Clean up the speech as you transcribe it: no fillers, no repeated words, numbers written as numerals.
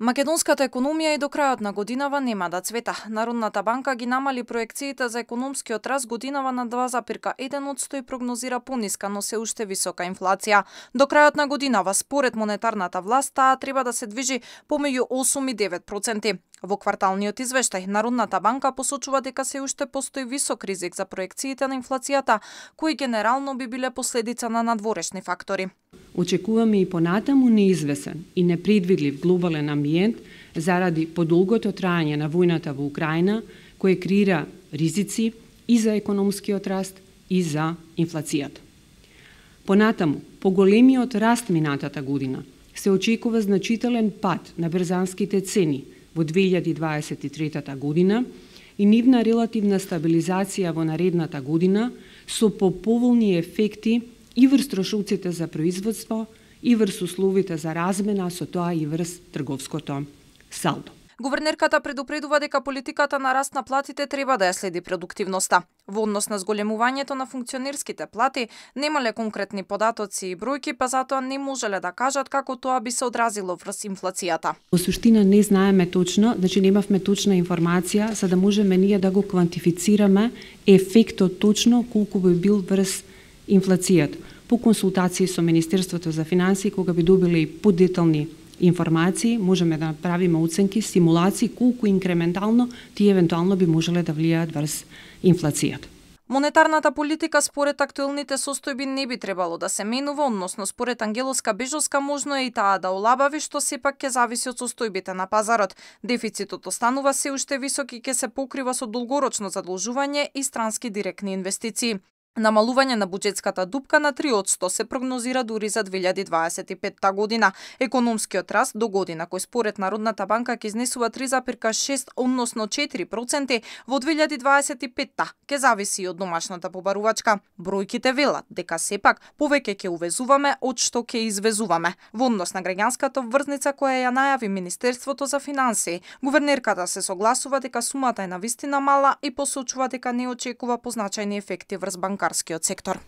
Македонската економија и до крајот на годинава нема да цвета. Народната банка ги намали проекциите за економскиот раст годинава на 2,1% и прогнозира пониска, но се уште висока инфлација. До крајот на годинава, според монетарната власт, таа треба да се движи помеѓу 8 и 9%. Во кварталниот извештај, Народната банка посочува дека се уште постои висок ризик за проекциите на инфлацијата, кои генерално би биле последица на надворешни фактори. Очекуваме и понатаму неизвесен и непредвидлив глобален амбиент заради подолгото трајање на војната во Украина, кој креира ризици и за економскиот раст и за инфлацијата. Понатаму, по големиот раст минатата година, се очекува значителен пад на берзанските цени во 2023 година и нивна релативна стабилизација во наредната година со поповолни ефекти и врз трошоците за производство, и врз условите за размена, со тоа и врз трговското салдо. Гувернерката предупредува дека политиката на раст на платите треба да ја следи продуктивноста. Во однос на зголемувањето на функционерските плати, немале конкретни податоци и бројки, па затоа не можеле да кажат како тоа би се одразило врз инфлацијата. Во суштина не знаеме точно, значи немавме точна информација за да можеме ние да го квантифицираме ефектот точно колку би бил врз инфлацијата. По консултации со Министерството за финансии, кога би добиле и подетални информации, можеме да направиме оценки, стимулации, колку инкрементално тие евентуално би можеле да влијаат врз инфлацијата. Монетарната политика според актуелните состојби не би требало да се менува, односно според Ангелоска Бежовска можно е и таа да олабави, што сепак ќе зависи од состојбите на пазарот. Дефицитот останува се уште висок и ќе се покрива со долгорочно задолжување и странски директни инвестиции. Намалување на буџетската дупка на 3% се прогнозира дури за 2025 година. Економскиот раст до година, кој според Народната банка ќе изнесува 3,6, односно 4% во 2025 ќе зависи од домашната побарувачка. Бројките велат дека сепак повеќе ќе увезуваме од што ќе извезуваме. Во однос на граѓанската врзница која ја најави Министерството за финансии, гувернерката се согласува дека сумата е навистина мала и посочува дека не очекува позначајни ефекти врз банкарскиот сектор.